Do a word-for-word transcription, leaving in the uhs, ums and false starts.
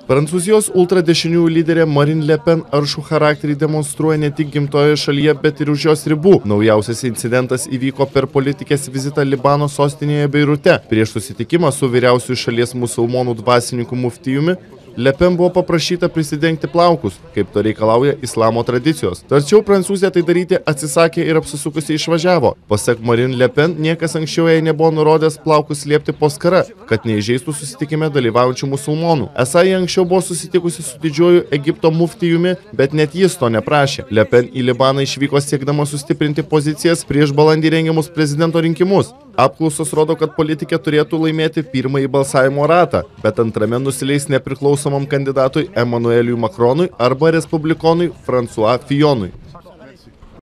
Prancūzijos ultradešiniųjų lyderė Marine Le Pen aršų charakterį demonstruoja ne tik gimtojoje šalyje, bet ir už jos ribų. Naujausias incidentas įvyko per politikės vizitą Libano sostinėje Beirute. Prieš susitikimą su vyriausiųjų šalies musulmonų dvasininku muftijumi, Le Pen buvo paprašyta prisidengti plaukus, kaip to reikalauja islamo tradicijos. Tačiau prancūzė tai daryti atsisakė ir apsisukusi išvažiavo. Pasak Marine Le Pen, niekas anksčiau jai nebuvo nurodęs plaukus slėpti po skara, kad neįžeistų susitikime dalyvaujančių musulmonų. Esą jie anksčiau buvo susitikusi su didžiuoju Egipto muftijumi, bet net jis to neprašė. Le Pen į Libaną išvyko siekdama sustiprinti pozicijas prieš balandį rengiamus prezidento rinkimus. Apklausos rodo, kad politikė turėtų laimėti pirmąjį balsavimo ratą, bet antrame nusileis nepriklausomam kandidatui Emmanueliui Macronui arba respublikonui François Fillonui.